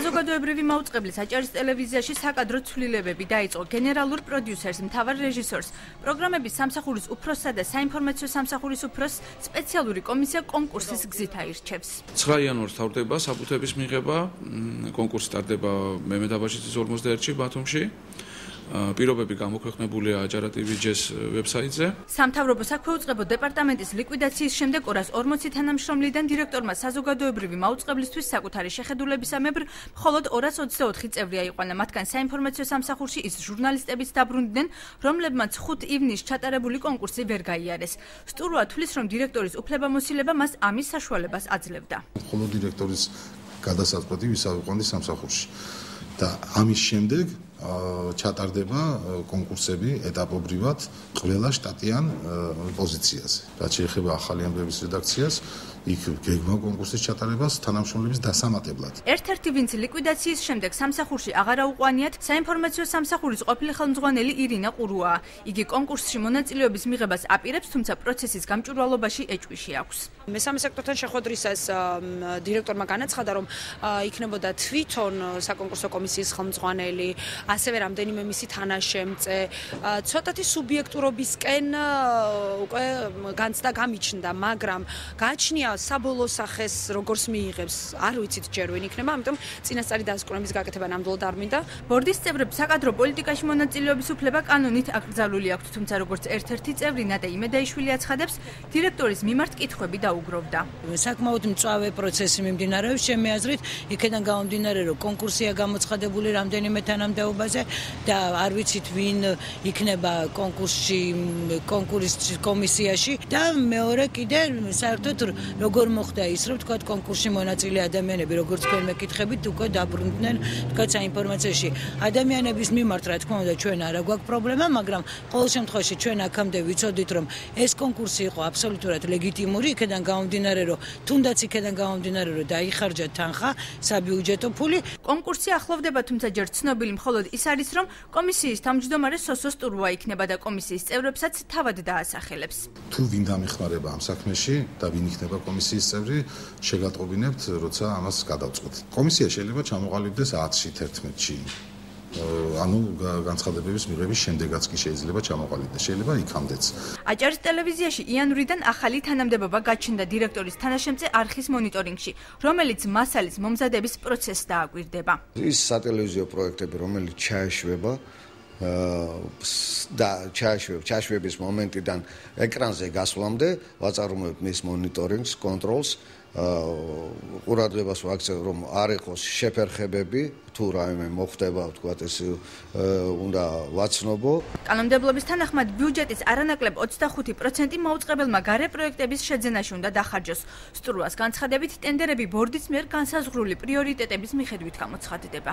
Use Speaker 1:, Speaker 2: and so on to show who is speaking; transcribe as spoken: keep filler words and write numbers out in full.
Speaker 1: საზოგადოებრივი მაუწყებლის აჭარის ტელევიზიაში საკადრო ცვლილებები დაიწყო გენერალურ პროდიუსერს, მთავარ რეჟისორს, პროგრამების სამსახურის უფროსსა და საინფორმაციო სამსახურის უფროსს სპეციალური კომისია კონკურსის გზით აირჩევს.
Speaker 2: ცხრა იანვარს თავდება საბუთების მიღება, კონკურსი ტარდება მემედ აბაშიძის ორმოცდაერთში ბათუმში. პირობები გამოქვეყნებულია აჭარა ტივ ჯეს ვებსაიტზე.
Speaker 1: სამთავრობო საქვეუწყებო დეპარტამენტის ლიკვიდაციის შემდეგ ორას ორმოცი თანამშრომლიდან დირექტორმა საზოგადოებრივი მაუწყებლისთვის საკუთარი შეხედულებისამებრ მხოლოდ ორას ოცდაოთხი წევრი აიყვანა, მათგან საინფორმაციო სამსახურში ის ჟურნალისტებიც დაბრუნდნენ, რომლებმაც ხუთი ივნისს ჩატარებული კონკურსი ვერ გაიარეს. სტურვა თვლის, რომ დირექტორის უფლებამოსილება მას ამის საშუალებას აძლევდა.
Speaker 3: მხოლოდ დირექტორის გადასაწყვეტი ვისაუყვანდი სამსახურში და ამის შემდეგ ჩატარდება კონკურსები ეტაპობრივად ყველა შტატიან პოზიციაზე. რაც შეეხება ახალი ამბების რედაქციას, იქ გეგმა კონკურსის ჩატარებას თანამშრომლების დასამატებლად.
Speaker 1: ერთ-ერთი ვინც ლიკვიდაციის შემდეგ სამსახურში აღარ აუყვანიათ, საინფორმაციო სამსახურის ყოფილი ხელმძღვანელი ირინა ყურუაა. იგი კონკურსში მონაწილეობის მიღებას აპირებს, თუმცა პროცესის გამჭვირვალობაში ეჭვიში აქვს.
Speaker 4: მესამე სექტორთან შეხვედრისას დირექტორმა განაცხადა, რომ იქნებოდა თვითონ საკონკურსო კომისიის ხელმძღვანელი, ასევე რამდენიმე მისი თანაშემწე, ცოტათი სუბიექტურობისკენ უკვე განცდა გამიჩნდა, მაგრამ გააჩნია საბოლოო სახეს როგორც მიიღებს, არ ვიცით ჯერ ვინ იქნება, ამიტომ წინასწარი დასკვნების გაკეთება ნამდვილად არ მინდა.
Speaker 1: ბორდის წევრებს საკადრო პოლიტიკაში მონაწილეობის უფლება კანონით აკრძალული აქვთ, თუმცა როგორც ერთ-ერთი წევრი ნადა იმედაიშვილი აცხადებს, დირექტორის მიმართ კითხვები დაუგროვდა.
Speaker 5: საკმაოდ მწვავე პროცესი მიმდინარეობს, ჩემი აზრით, იქიდან გამომდინარე, რომ კონკურსია გამოცხადებული რამდენიმე თანამდებობაზე და არ ვიცით ვინ იქნება კონკურსში, კონკურსის კომისიაში და მეორე კიდე საერთოდ როგორ მოხდა ის, რომ თქვა კონკურსში მონაწილე ადამიანები, როგორც თქვენ მეკითხებით, უკვე დაბრუნდნენ თქვა საინფორმაციაში. ადამიანების მიმართ, რა თქმა უნდა, ჩვენ არა გვაქვს პრობლემა, მაგრამ ყოველ შემთხვევაში ჩვენ აქამდე ვიცოდით, რომ ეს კონკურსი იყო აბსოლუტურად ლეგიტიმური, იქიდან გამომდინარე, რომ თუნდაც იქიდან გამომდინარე, რომ დაიხარჯა თანხა, საბიუჯეტო ფული.
Speaker 1: კონკურსი ახლოვდება, თუმცა ჯერ ცნობილი მხოლოდ ის არის, რომ კომისიის თავმჯდომარე სოსო სტურვა იქნება და კომისიის წევრებსაც თავად დაასახელებს.
Speaker 3: თუ ვინ დამეხმარება ამ საქმეში და ვინ იქნება კომისიის წევრი, შეგატყობინებთ, როცა ამას გადავწყვეტ. კომისია შეიძლება ჩამოყალიბდეს ათში, თერთმეტში. ანუ განცხადებების მიღების შემდეგაც კი შეიძლება ჩამოყალიბდეს, შეიძლება იქამდეც.
Speaker 1: აჭარის ტელევიზიაში იანვრიდან ახალი თანამდებობა გაჩნდა დირექტორის თანაშემწე არხის მონიტორინგში, რომელიც მასალის მომზადების პროცესს დააკვირდება.
Speaker 6: ის სატელევიზიო პროექტები, რომელიც ჩაეშვება და ჩაეშვებ, ჩაეშვების მომენტიდან ეკრანზე გასვლამდე ვაწარმოებ მის მონიტორინგს, კონტროლს, ყურადღებას ვაქცევ, რომ არ იყოს შეფერხებები, თუ რაიმე მოხდება, ვთქვათ, ეს უნდა ვაცნობო.
Speaker 1: კანონმდებლობის თანახმად ბიუჯეტის არანაკლებ ოცდახუთი პროცენტი მაუწყებელმა გარე პროექტების შეძენაში უნდა დახარჯოს. სტურვას განცხადებით, ტენდერები ბორდის მიერ განსაზღვრული პრიორიტეტების მიხედვით გამოცხადდება.